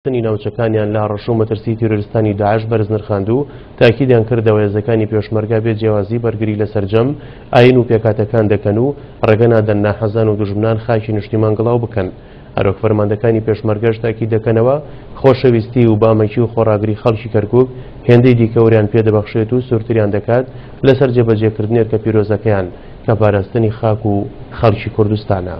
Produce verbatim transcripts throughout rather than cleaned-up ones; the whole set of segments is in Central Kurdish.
ناوچەکانیان لە هەڕەشە و مەترسی تیرۆریستانی داعش بەرز نرخاند و تاکیدیان کردەوە هێزەکانی پێشمەرگە بێ جیاوازی بەرگری لە سەرجەم ئاین و پێکهاتەکان دەکەن و ڕێگە نادەن ناحەزان و دوژمنان خاکی نیشتیمان گڵاو بکەن. هەروەک فەرماندەکانی پێشمەرگەش تاکید دەکەنەوە خۆشەویستی و بامەکی و خۆڕاگری خەڵکی کەرکوک هێندەی دیکە وریان پێدەبەخشێت و سوورتریان دەکات لەسەر جێبەجێکردنی ئەرکە پیرۆزەکەیان کە پاراستنی خاک و خەڵکی کوردستانە.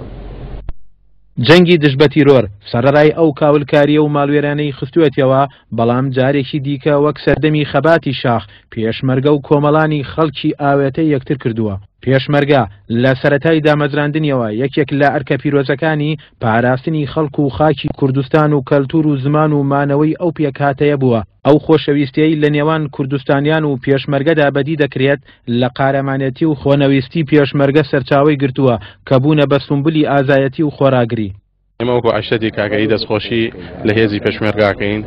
جەنگی دژ بە تیرۆر سەرەڕای ئەو کاولکاریە و ماڵوێرانەی خستووەتەوە، بەڵام جارێکی دیکە وەک سەردەمی خەباتی شاخ پێشمەرگە و کۆمەڵانی خەڵکی ئاوێتە یەکتر کردووە. پێشمەرگە لە سەرەتای دامەزراندنیەوە یەکێک لە ئەرکە پیرۆزەکانی پاراستنی خەڵک و خاکی کوردستان و کەلتور و زمان و مانەوەی ئەو پێکهاتەیە بووە. ئەو خۆشەویستیەی لە نێوان کوردستانیان و پێشمەرگەدا بەدی دەکرێت لە قارەمانێتی و خۆنەویستی پێشمەرگە سەرچاوەی گرتووە کە بوونە بە سومبلی ئازایەتی و خۆراگری. ئێمە وەکو عەشرەتی کاکەیی دەستخۆشی لە هێزی پێشمەرگاکەین،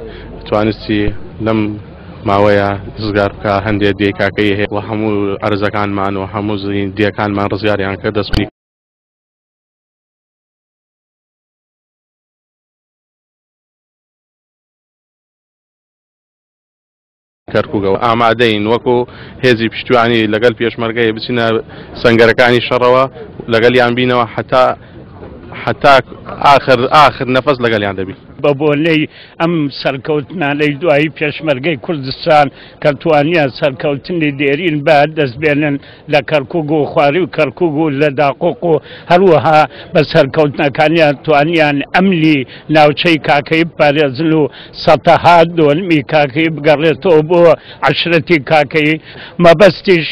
توانستی لەم ماوەیە ڕزگار بکە هەندێک دێی کاکەیی هەیە و هەموو ئەرزەکانمان و هەموو دێکانمان ڕزگاریان کرد. دەستخۆشی کەرکووکەوە ئامادەین وەکو هێزی پشتیوانی لەگەڵ پێشمەرگەی بچینە سەنگەرەکانی شەڕەوە لەگەڵیان بینەوە حتا حتا آخر آخر نەفەس لەگەڵیان دەبی. بە بۆنەی ئەم سەرکەوتنانەی دوایی پێشمەرگەی کوردستان کە توانیان سەرکەوتنی دێرین بە دەست بێنن لە کەرکوک و خواری و کەرکوک و لە داقۆق و هەروەها بە سەرکەوتنەکانیان توانیان ئەمنی ناوچەی کاکەیی بپارێزن و سەتەها دۆنمی کاکەیی بگەڕێتەوە بۆ عەشرەتی کاکەیی. مەبەستیش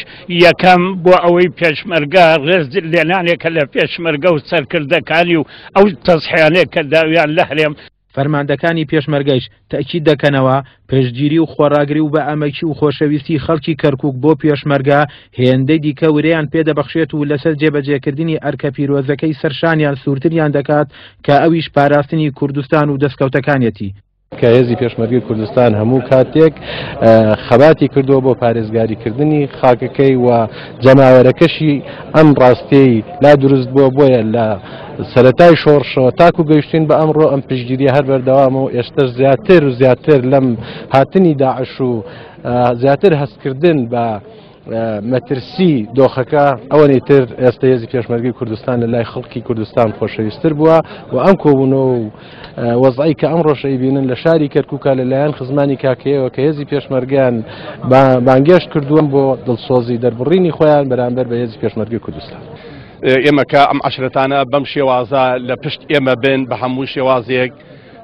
یەکەم بۆ ئەوەی پێشمەرگە ڕێز لێنانێکە لە پێشمەرگە و سەرکردەکانی و ئەو تەزحیانێک کە داویان لە هەرێم. فەرماندەکانی پێشمەرگەیش تەئکید دەکەنەوە پشتگیری و خۆڕاگری و بە ئەمەکی و خۆشەویستی خەڵکی کەرکوک بۆ پێشمەرگە هێندەی دیکە ورەیان پێدەبەخشێت و لەسەر جێبەجێکردنی ئەرکە پیرۆزەکەی سەرشانیان سوورتریان دەکات کە ئەویش پاراستنی کوردستان و دەستکەوتەکانیەتی. کە هێزی پێشمەرگەی کوردستان هەموو کاتێک خەباتی کردووە بۆ پارێزگاریکردنی خاکەکەی و جەماوەرەکەشی ئەم ڕاستیەی لا دروست بووە، بۆیە لە سەرەتای شۆڕشەوە تاکو گەیشتین بە ئەمڕۆ ئەم پشتگیریە هەر بەردەوامە و ئێستاش زیاتر و زیاتر لەم هاتنی داعش و زیاتر هەستکردن بە مەترسی دۆخەکە ئەوەنی تر ئێستا هێزی پێشمەرگەی کوردستان لە لای خەڵکی کوردستان خۆشەویستتر بووە و ئەم کۆبوونەوە و وەزعی کە ئەمڕۆش ئەیبینن لە شاری کەرکووکە لەلایەن خزمانی کاکەیەوە کە هێزی پێشمەرگەیان بانگێشت کردووە بۆ دڵسۆزی دەربڕینی خۆیان بەرامبەر بە هێزی پێشمەرگەی کوردستان. ئێمە کە ئەم عەشرەتانە بەم شێوازە لە پشت ئێمە بن بە هەموو شێوازێک،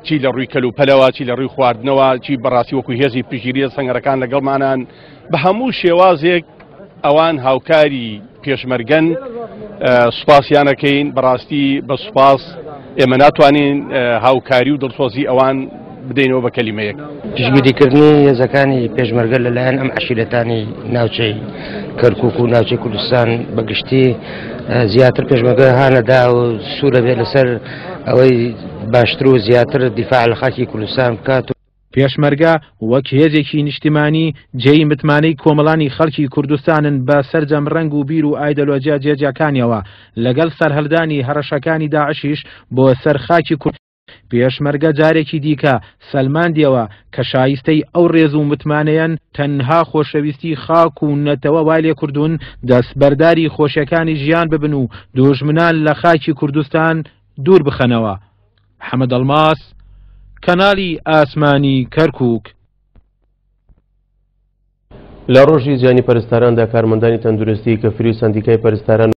چی لە ڕووی کەلوپەلەوە، چی لە ڕووی خواردنەوە، چی بەڕاستی وەکو هێزی پشتگیری سەنگەرەکان لەگەڵمانان، بە هەموو شێوازێک ئەوان هاوکاری پێشمەرگەن. سوپاسیانەکەین بەڕاستی بە سوپاس ئێمە ناتوانین هاوکاری و دڵسۆزی ئەوان بدەینەوە بە کەلیمەیەک. پشتگیریکردنی هێزەکانی پێشمەرگە لەلایەن ئەم عەشیرەتانی ناوچەی کەرکوک و ناوچەی کوردستان بەگشتی زیاتر پێشمەرگە هانەدا و سوورە بێت لەسەر ئەوەی باشتر و زیاتر دیفاع لە خاکی کوردستان بکات. پێشمەرگە وەک هێزێکی نیشتیمانی جێی متمانەی کۆمەڵانی خەڵکی کوردستانن بە سەرجەم ڕەنگ و بیر و ئایدۆلۆژیا جیاجیاکانیەوە، لەگەڵ سەرهەڵدانی هەڕەشەکانی داعشیش بۆ سەر خاکی کورد پێشمەرگە جارێکی دیکە سەلماندیەوە کە شایستەی ئەو ڕێز و متمانەیەن تەنها خۆشەویستی خاک و نەتەوە وای لێ کردوون دەستبەرداری خۆشیەکانی ژیان ببن و دوژمنان لە خاکی کوردستان دوور بخەنەوە. حەمەد ئەڵماس، کەناڵی ئاسمانی کەرکوک. لە ڕۆژی جیهانی پەرستاراندا کارمەندانی تەندروستی کەفری و سەندیکای پەرستاران